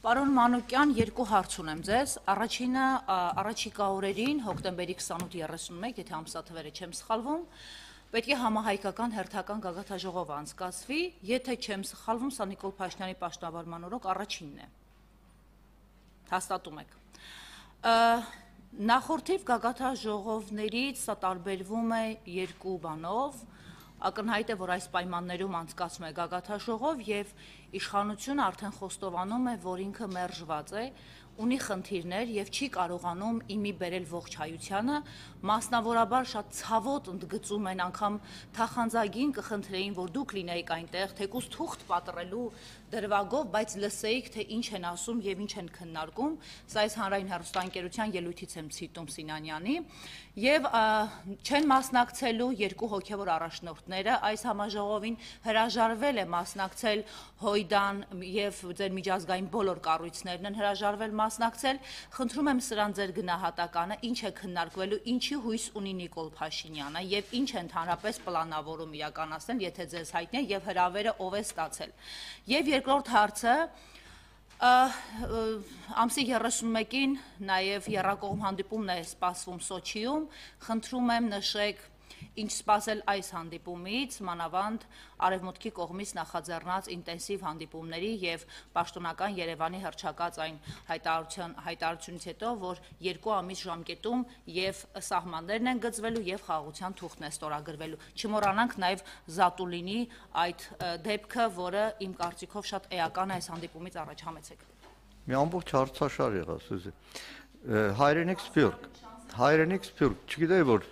Պարոն Մանուկյան, երկու հարց ունեմ ձեզ, առաջինը առաջիկա օրերին, հոկտեմբերի 28-31, եթե ամսաթվերը չեմ սխալվում, պետք է համահայկական հերթական գագաթաժողով անցկացվի, եթե չեմ սխալվում, սա Նիկոլ Փաշինյանի պաշտոնավարման օրոք առաջինն է, հաստատում եք։ Նախորդիվ գագաթաժողովներից սա տարբերվում է երկու բանով, ակնհայտ է, որ այս պայմաններում անցկացվում է գագաթաժողով և իշխանությունը արդեն խոստովանում է, որ ինքը մերժված է, ունի խնդիրներ և չի կարողանում իմի բերել ողջ հայությանը, մասնավորաբար շատ ցավոտ ընդգծում են, անգամ թախանձագին կխնդրեին, որ դուք լինեիք այնտեղ, թեկուզ թուղթ պատռելու դրվագով, բայց լսեիք, թե ինչ են ասում և ինչ են քննարկում, սա այս հանրային հեռուստաընկերության ելույթից եմ ցիտում Սինանյանի, և չեն մասնակցելու երկու հոգևոր առաջնորդները, այս համաժողովին հրաժարվել է մասնակցել Հոյդան և ձեր միջազգային բոլոր կառույցներն են հրաժարվել մասնակցել, խնդրում եմ սրան ձեր գնահատականը, ինչ է քննարկվելու, ինչի հույս ունի Նիկոլ Փաշինյանը և ինչ է ընդհանրապես պլանավորում իրականացնել, եթե ձեզ հայտնի է և հրավերը ով է ստացել։ Եվ երկրորդ հարցը, ամսի 31-ին նաև եռակողմ հանդիպումն է սպասվում Սոչիում, խնդրում եմ նշեք ինչ սպասել այս հանդիպումից, մանավանդ արևմուտքի կողմից նախաձեռնած ինտենսիվ հանդիպումների և պաշտոնական Երևանի հռչակած այն հայտարարությունից հետո, որ 2 ամիս ժամկետում և սահմաններն են գծվելու և խաղաղության թուղթն է ստորագրվելու։ Չմոռանանք նաև Զատուլինի այդ դեպքը, որը իմ կարծիքով շատ էական է այս հանդիպումից առաջ, համեցեք։ Մի ամբողջ հարցաշար եղա, Սուզի։ Հայրենիք Սփյուռք, չգիտեի, որ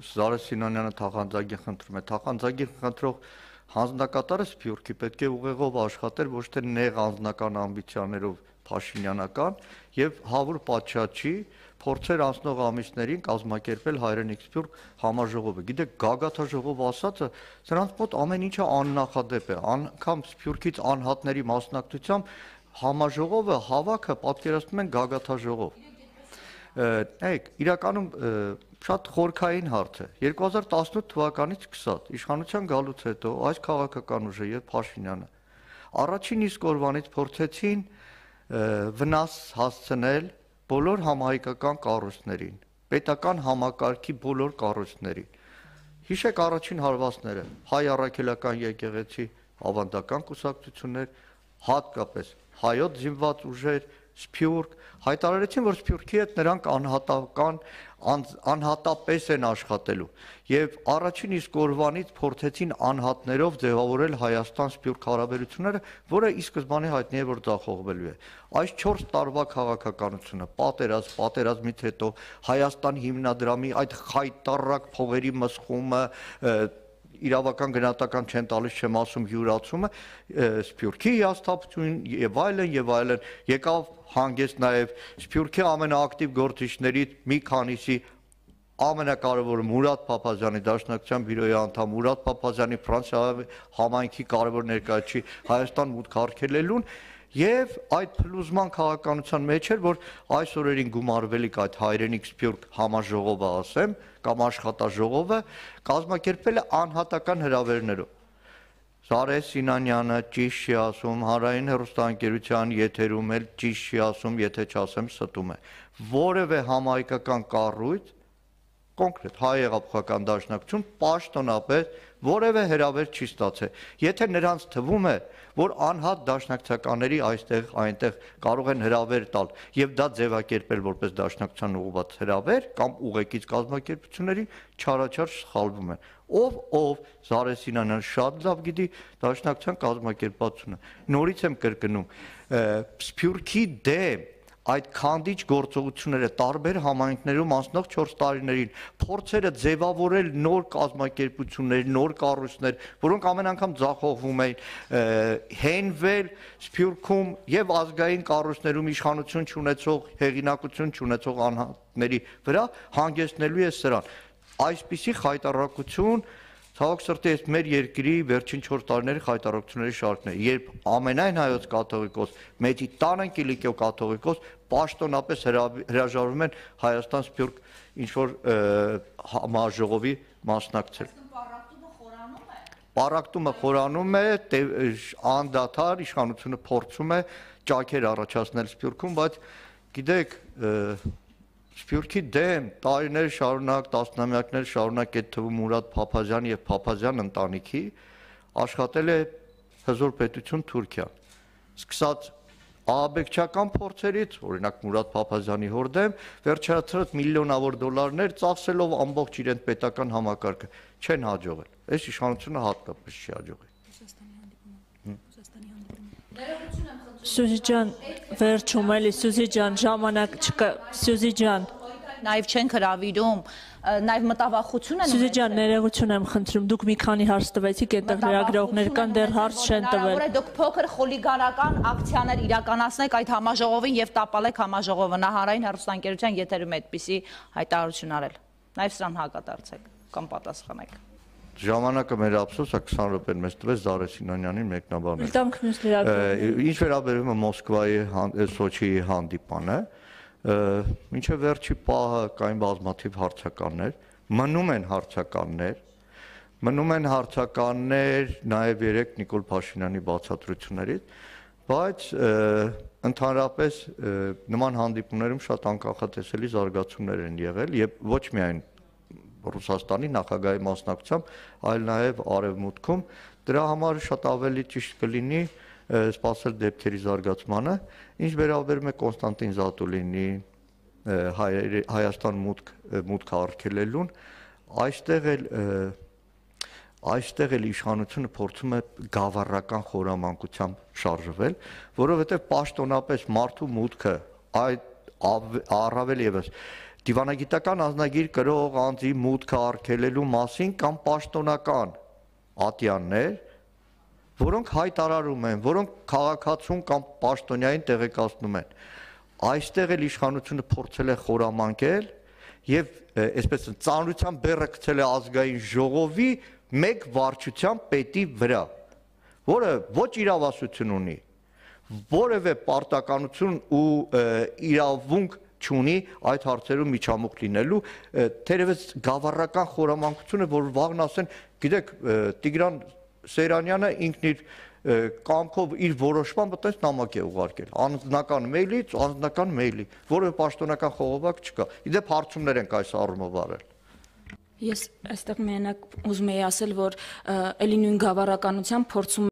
Զարե Սինանյանը թախանձագին խնդրում է, թախանձագին խնդրող հանձնակատարը Սփյուռքի պետք է ուղեղով աշխատեր, ոչ թե նեղ անձնական ամբիցիաներով փաշինյանական և հավուր պատշաճի փորձեր անցնող ամիսներին կազմակերպել Հայրենիք Սփյուռք համաժողովը։ Գիտեք, գագաթաժողով ասածը սրանց մոտ ամեն ինչը աննախադեպ է, անգամ Սփյուռքից անհատների մասնակցությամբ համաժողովը հավաքը պատկերացնում են գագաթաժողով։ Իրականում շատ խորքային հարց է։ 2018 թվականից սկսած իշխանության գալուց հետո այս քաղաքական ուժը եւ Փաշինյանը առաջին իսկ օրվանից փորձեցին վնաս հասցնել բոլոր համահայկական կառույցներին, պետական համակարգի բոլոր կառույցներին։ Հիշեք առաջին հարվածները, հայ առաքելական եկեղեցի, ավանդական կուսակցություններ, հատկապես հայոց զինված ուժեր, Սփյուռք հայտարարեցին, որ Սփյուռքի հետ նրանք անհատապես են աշխատելու եւ առաջին իսկ օրվանից փորձեցին անհատներով ձևավորել Հայաստան-Սփյուռք հարաբերությունները, որը ի սկզբանե հայտնի է, որ ձախողվելու է։ Այս 4 տարվա քաղաքականությունը, պատերազմից հետո Հայաստան հիմնադրամի այդ խայտառակ փողերի մսխումը, իրավական գնահատական չեմ տալիս, չեմ ասում յուրացումը, Սփյուռքի հիասթափություն եւ այլն, եկավ հանգեցտ նաեւ Սփյուռքի ամենաակտիվ գործիչներից մի քանիսի ամենակարևորը Մուրադ Փափազյանի Դաշնակցության բյուրոյի անդամ Մուրադ Փափազյանի Ֆրանսիայի համայնքի կարևոր ներկայացուցիչ Հայաստան մուտք արգելելուն եւ այդ փլուզման քաղաքականության մեջ էր, որ այս օրերին գումարվելիք այդ Հայրենիք Սփյուռք համաժողովը ասեմ կամ աշխատաժողովը կազմակերպվել է անհատական հրավերներով։ Զարե Սինանյանը ճիշտ չի ասում, հանրային հեռուստաընկերության եթերում էլ ճիշտ չի ասում, եթե չասեմ ստում է։ Որևէ համահայկական կառույց, կոնկրետ Հայ հեղափոխական դաշնակցություն պաշտոնապես որևէ հրավեր չի ստացել։ Եթե նրանց թվում է, որ անհատ դաշնակցականների այստեղ այնտեղ կարող են հրավեր տալ եւ դա ձևակերպել որպես դաշնակցության ուղղված հրավեր կամ ուղեկից կազմակերպությունների, չարաչար սխալվում են։ Ով Զարե Սինանյանը շատ լավ գիտի դաշնակցության կազմակերպությունը։ Նորից եմ կրկնում, Սփյուռքի դեմ այդ քանդիչ գործողությունները տարբեր համայնքներում անցնող 4 տարիներին փորձերը ձևավորել նոր կազմակերպություններ, նոր կառույցներ, որոնք ամեն անգամ ձախողվում էին, հենվել Սփյուռքում եւ ազգային կառույցներում իշխանություն չունեցող, հեղինակություն չունեցող անհատների վրա հանգեցնելու է սրան։ Այսպիսի խայտառակություն ցավոք սրտի այս մեր երկրի վերջին 4 տարիների խայտառակությունների շարքն է, երբ ամենայն հայոց կաթողիկոս, մեծի տան Կիլիկիո կաթողիկոս պաշտոնապես հրաժարվում են Հայաստան-Սփյուռք ինչ-որ համաժողովի մասնակցել։ Պառակտումը խորանում է, անդադար իշխանությունը փորձում է ճաքեր առաջացնել Սփյուռքում, բայց գիտեք, Սփյուռքի դեմ տարիներ շարունակ, տասնամյակներ շարունակ այդ թվում Մուրադ Փափազյան եւ Փափազյան ընտանիքի աշխատել է հզոր պետություն Թուրքիան։ Սկսած աբեկչական փորձերից, օրինակ Մուրադ Փափազյանի հոր դեմ, վերջացրած միլիոնավոր դոլարներ ծախսելով ամբողջ իրենց պետական համակարգը, չեն հաջողել։ Այս իշխանությունը հատկապես չի հաջողել։ Սյուզի ջան, վերջում էլի Սյուզի ջան, ժամանակ չկա, Սյուզի ջան։ Նաև չեն հրավիրում, նաև մտավախություն են։ Սյուզի ջան, ներողություն եմ խնդրում, դուք մի քանի հարց տվեցիք, այդտեղ լրագրողներ կան, դեռ հարց չեն տվել։ Հնարավոր է դուք փոքր խուլիգանական ակցիաներ իրականացնեք այդ համաժողովին եւ տապալեք համաժողովը նահարային հեռուստաընկերության եթերում այդպիսի հայտարարություն արել։ Նաև սրան հակադարձեք կամ պատասխանեք։ Ժամանակը մեր ափսոսը 20 րոպեն մեզ տվեց Զարե Սինանյանին մեկնաբանել։ Տանք մյուս լրագրողներին։ Ինչ վերաբերում է Մոսկվայի Սոչիի հանդիպանը, մինչև վերջի պահը կային բազմաթիվ հարցականներ, մնում են հարցականներ նաև երեք Նիկոլ Փաշինյանի բացատրություններից, բայց ընդհանրապես նման հանդիպումներում շատ անկախատեսելի զարգացումներ են եղել եւ ոչ միայն Ռուսաստանի նախագահի մասնակցությամբ, այլ նաև Արևմուտքում, դրա համար շատ ավելի ճիշտ կլինի սպասել դեպքերի զարգացմանը, ինչ վերաբերում է Կոնստանտին Զատուլինի Հայաստան մուտք արգելելուն, այստեղ էլ իշխանությունը փորձում է գավառական խորամանկությամբ շարժվել, որովհետև պաշտոնապես մարդու մուտքը առավել եւս դիվանագիտական անձնագիր կրող անձի մուտքը արգելելու մասին կամ պաշտոնական ատյաններ, որոնք հայտարարում են, որոնք քաղաքացուն կամ պաշտոնյային տեղեկացնում են։ Այստեղ էլ իշխանությունը փորձել է խորամանկել եւ այսպես ծանրության բեռը գցել է ազգային ժողովի մեկ վարչության պետի վրա, որը ոչ իրավասություն ունի, որևէ պարտականություն ու իրավունք չունի այդ հարցերում միջամուխ լինելու, թերևս գավառական խորամանկությունը, որ վաղն ասեն, գիտեք, Տիգրան Սեյրանյանը ինքն իր կամքով իր որոշմամբ այդպես նամակ է ուղարկել, անձնական մեյլի, որևէ պաշտոնական խողովակ չկա։ Իդեպ հարցումներ ենք այս առումով արել։ Ես այստեղ միանակ ուզում եի ասել, որ էլի նույն գավառականությամբ փորձում